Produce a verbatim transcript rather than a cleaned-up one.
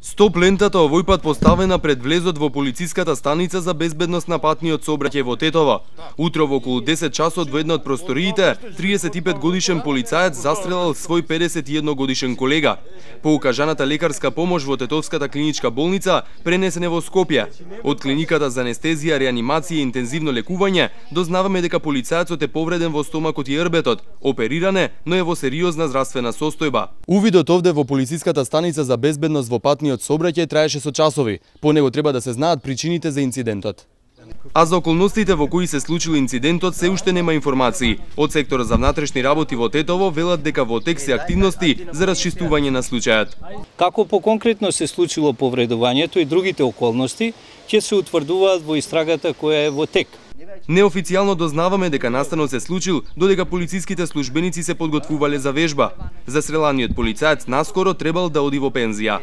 Стоп лентата овој пат поставена пред влезот во полициската станица за безбедност на патниот сообраќај во Тетово. Утро во околу десет часот во една од просториите, триесет и пет годишен полицаец застрелал свој педесет и едно годишен колега. По укажаната лекарска помош во Тетовската клиничка болница пренесен е во Скопје. Од клиниката за анестезија, реанимација и интензивно лекување дознаваме дека полицаецот е повреден во стомакот и рбетот, опериран е, но е во сериозна здравствена состојба. Увидот овде во полициската станица за безбедност во патниот сообраќај траеше со часови. По него треба да се знаат причините за инцидентот. А за околностите во кои се случил инцидентот се уште нема информации. Од секторот за внатрешни работи во Тетово велат дека во тек се активности за расчистување на случајот. Како поконкретно се случило повредувањето и другите околности ќе се утврдуваат во истрагата која е во тек. Неофицијално дознаваме дека настанот се случил додека полициските службеници се подготвувале за вежба. Застреланиот полицаец наскоро требал да оди во пензија.